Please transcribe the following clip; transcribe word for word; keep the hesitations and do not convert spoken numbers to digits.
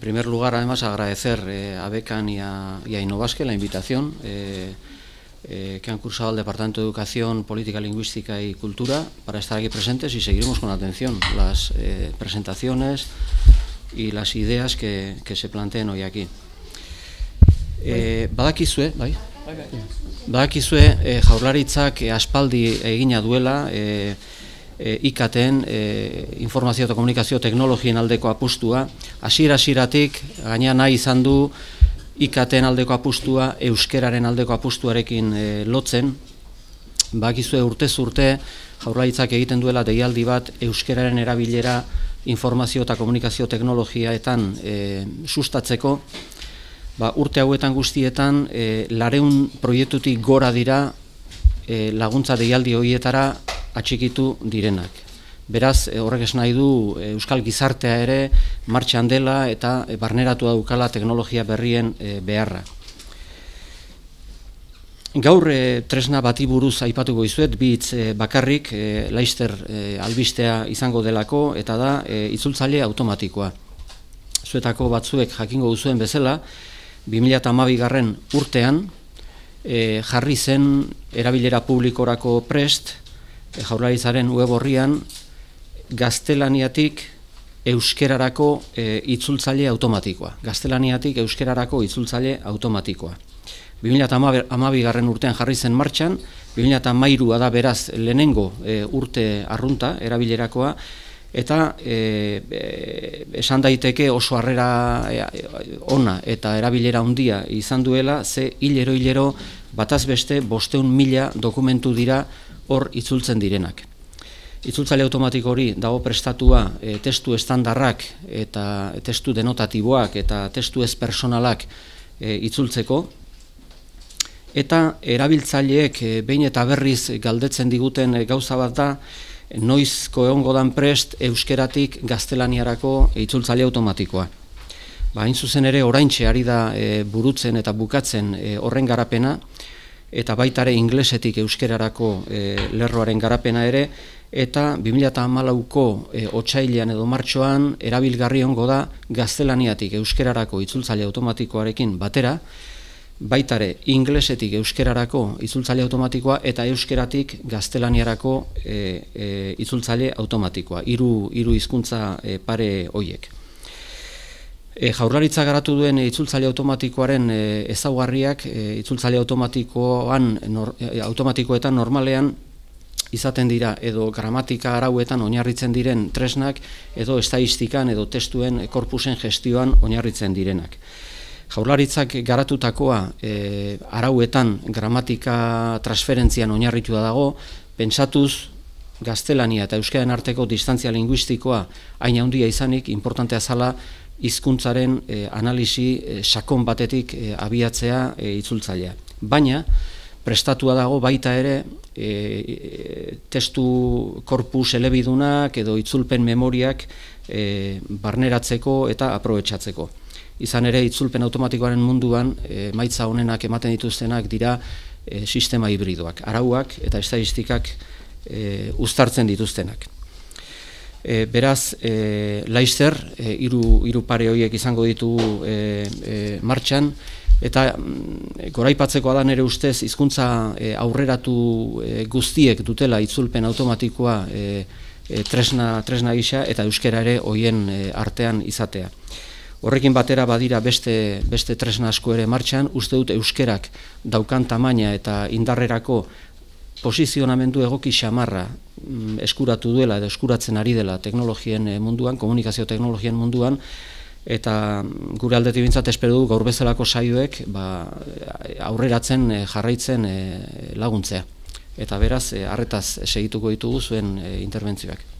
primer lugar, además, agradecer eh, a Becan y a, y a Innovasque la invitación eh, eh, que han cursado el Departamento de Educación, Política Lingüística y Cultura para estar aquí presentes, y seguiremos con atención las eh, presentaciones y las ideas que, que se planteen hoy aquí. Eh, badakizue, bai? Badakizue eh, Jaurlaritzak eh, aspaldi egina duela eh, eh, I K T-en, eh, informazio eta komunikazio teknologien aldeko apustua. Hasiera-hasieratik gaina nahi izan du I K T-en aldeko apustua euskeraren aldeko apustuarekin eh, lotzen. Badakizue urtez urte Jaurlaritzak egiten duela deialdi bat euskeraren erabilera informazio eta komunikazio teknologiaetan eh, sustatzeko. Ba, urte hauetan guztietan e, lareun proiektutik gora dira e, laguntza deialdi horietara atxikitu direnak. Beraz, e, horrek esan nahi du e, euskal gizartea ere martxan dela eta e, barneratu daukala teknologia berrien e, beharra. Gaur e, tresna bati buruz aipatuko izuet, bi hitz e, bakarrik e, Laster e, albistea izango delako, eta da e, itzultzaile automatikoa. Zuetako batzuek jakingo duzuen bezala, bi mila hamabigarren urtean e, jarri zen erabilera publikorako prest e, Jaurlaritzaren web orrian gaztelaniatik euskerarako e, itzultzaile automatikoa. Gaztelaniatik euskerarako itzultzaile automatikoa. bi mila hamabigarren urtean jarri zen martxan, bi mila hamairua da beraz lehenengo e, urte arrunta erabilerakoa, eta e, e, esan daiteke oso harrera e, ona eta erabilera handia izan duela, ze hilero-hilero bataz beste bosteun mila dokumentu dira hor itzultzen direnak. Itzultzaile automatiko hori dago prestatua e, testu estandarrak eta testu denotatiboak eta testu ez personalak e, itzultzeko, eta erabiltzaileek e, behin eta berriz galdetzen diguten e, gauza bat da, noizko egongo dan prest euskeratik gaztelaniarako itzultzaile automatikoa. Ba, hain zuzen ere oraintxe ari da e, burutzen eta bukatzen e, horren garapena, eta baita ere inglesetik euskerarako e, lerroaren garapena ere, eta bi mila hamalauko e, otsailean edo martxoan erabilgarri ongo da gaztelaniatik euskerarako itzultzaile automatikoarekin batera, baitare inglesetik euskerarako itzultzaile automatikoa eta euskeratik gaztelaniarako e, e, itzultzaile automatikoa, hiru hiru hizkuntza e, pare hoiek. E, Jaurlaritza garatu duen itzultzaile automatikoaren e, ezaugarriak e, itzultzaile automatikoan nor, e, automatikoetan normalean izaten dira edo gramatika arauetan oinarritzen diren tresnak edo estatistikan edo testuen korpusen gestioan oinarritzen direnak. Jaurlaritzak garatutakoa e, arauetan gramatika transferentzian oinarritua dago, pentsatuz gaztelania eta euskaren arteko distantzia linguistikoa hain handia izanik importantea zala hizkuntzaren e, analisi e, sakon batetik e, abiatzea e, itzultzailea. Baina prestatua dago baita ere e, e, testu korpus elebidunak edo itzulpen memoriak e, barneratzeko eta aprobetxatzeko. Izan ere, itzulpen automatikoaren munduan, e, maitza honenak ematen dituztenak dira e, sistema hibridoak, arauak eta estatistikak e, uztartzen dituztenak. E, beraz, e, Laster, e, hiru, hiru pare horiek izango ditugu e, e, martxan, eta mm, goraipatzekoa da nire ustez, hizkuntza e, aurreratu e, guztiek dutela itzulpen automatikoa e, e, tresna, tresna gisa eta euskera ere hoien e, artean izatea. Horrekin batera badira beste, beste tresna asko ere martxan, uste dut euskerak daukan tamaina eta indarrerako posizionamendu egoki xamarra mm, eskuratu duela edo eskuratzen ari dela teknologien munduan, komunikazio teknologien munduan, eta gure aldetik bintzat espero du gaur bezalako saioek ba, aurreratzen jarraitzen laguntzea. Eta beraz, harretaz segituko ditugu zuen interbentzioak.